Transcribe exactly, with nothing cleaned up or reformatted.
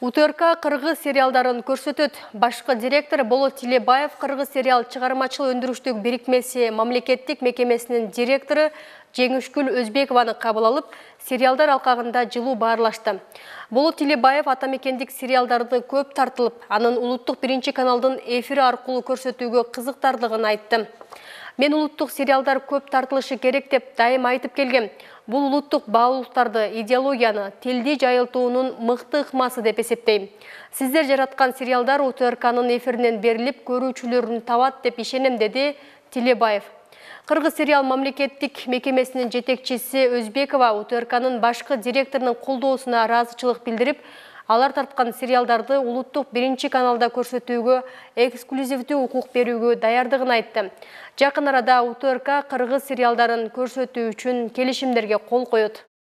УТРК кыргыз сериалдарын көрсөтөт. Башкы директор Болот Тилебаев кыргыз сериал чыгармачыл өндүрүштүк бирикмеси мамлекеттик мекемесинин директору Жеңишгүл Өзбекованы кабыл алып, сериалдар алкагында жылуу баарлашты. Болот Тилебаев атамекендик сериалдарды көп тартылып, анын улуттук биринчи каналдын эфири аркылуу көрсөтүүгө кызыктарлыгын айтты. Мен улуттук сериалдар көп тартылышы керек деп дайым айтып келгем. Бул улуттук баалуулуктарды, идеологияны, тилди жайылтуунун мыкты ыкмасы деп эсептейм. Сиздер жараткан сериалдар УТРКнын эфиринен берилип, көрүүчүлөрүн табат деп ишенем, деди Тилебаев. Кыргыз сериал мамлекеттик мекемесинин жетекчиси Өзбекова УТРКнын башкы директорунун колдоосуна ыраазычылык билдирип, алар тарткан сериалдарды улуттук биринчи каналда көрсөтүүгө эксклюзивдүү укук берүүгө даярдыгын айтты. Жакын арада УТРК кыргыз сериалдарын көрсөтүү үчүн келишимдерге кол коет.